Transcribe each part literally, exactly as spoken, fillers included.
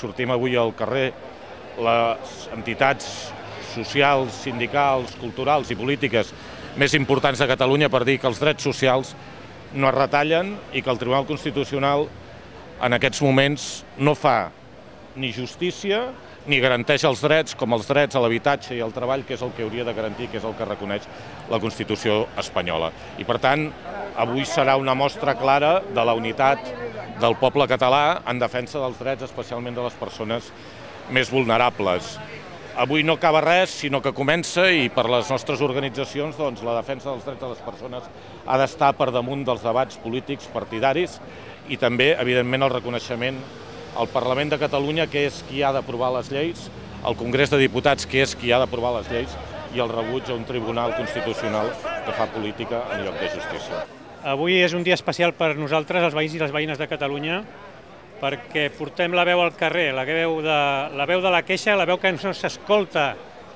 Sortim avui al carrer les entitats socials, sindicals, culturals i polítiques més importants de Catalunya per dir que els drets socials no es retallen i que el Tribunal Constitucional en aquests moments no fa ni justícia ni garanteix els drets com els drets a l'habitatge i al treball, que és el que hauria de garantir, que és el que reconeix la Constitució espanyola. I per tant, avui serà una mostra clara de la unitat del poble català en defensa dels drets, especialment de les persones més vulnerables. Avui no acaba res, sinó que comença, i per les nostres organitzacions doncs, la defensa dels drets de les persones ha d'estar per damunt dels debats polítics partidaris i també, evidentment, el reconeixement al Parlament de Catalunya, que és qui ha d'aprovar les lleis, al Congrés de Diputats, que és qui ha d'aprovar les lleis, i el rebuig a un Tribunal Constitucional que fa política en lloc de justícia. Avui és un dia especial per nosaltres, els veïns i les veïnes de Catalunya, perquè portem la veu al carrer, la veu de la, veu de la queixa, la veu que no s'escolta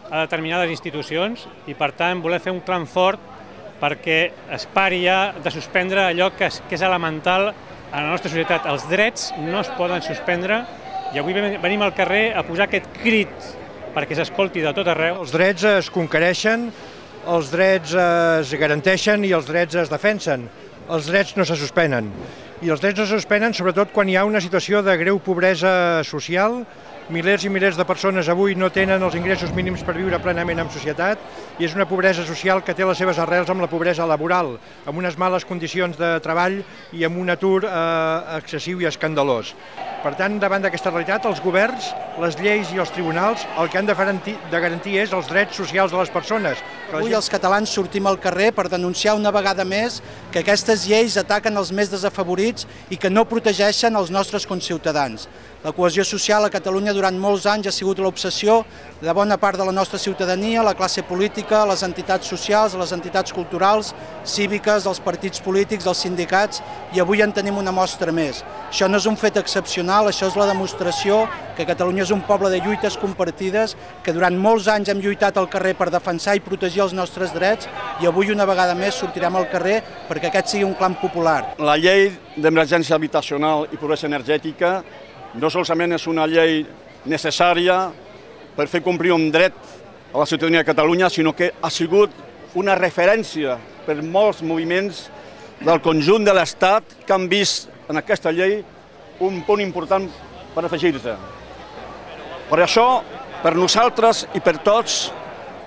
a determinades institucions, i per tant volem fer un clam fort perquè es pari ja de suspendre allò que és, que és elemental a la nostra societat. Els drets no es poden suspendre i avui venim al carrer a posar aquest crit perquè s'escolti de tot arreu. Els drets es conquereixen, els drets es garanteixen i els drets es defensen. Els drets no se suspenen. I els drets no se suspenen sobretot quan hi ha una situació de greu pobresa social. Milers i milers de persones avui no tenen els ingressos mínims per viure plenament en societat i és una pobresa social que té les seves arrels amb la pobresa laboral, amb unes males condicions de treball i amb un atur eh, excessiu i escandalós. Per tant, davant d'aquesta realitat, els governs, les lleis i els tribunals el que han de garantir, de garantir és els drets socials de les persones. Avui els catalans sortim al carrer per denunciar una vegada més que aquestes lleis ataquen els més desafavorits i que no protegeixen els nostres conciutadans. La cohesió social a Catalunya durant molts anys ha sigut l'obsessió de bona part de la nostra ciutadania, la classe política, les entitats socials, les entitats culturals, cíviques, els partits polítics, els sindicats, i avui en tenim una mostra més. Això no és un fet excepcional, això és la demostració que Catalunya és un poble de lluites compartides, que durant molts anys hem lluitat al carrer per defensar i protegir els nostres drets, i avui una vegada més sortirem al carrer perquè aquest sigui un clam popular. La llei d'emergència habitacional i pobresa energètica no solament és una llei necessària per fer complir un dret a la ciutadania de Catalunya, sinó que ha sigut una referència per molts moviments del conjunt de l'Estat que han vist en aquesta llei un punt important per afegir-se. Per això, per nosaltres i per tots,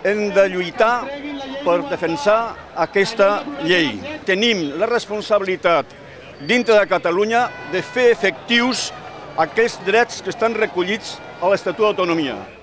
hem de lluitar per defensar aquesta llei. Tenim la responsabilitat dintre de Catalunya de fer efectius aquells drets que estan recollits a l'Estatut d'Autonomia.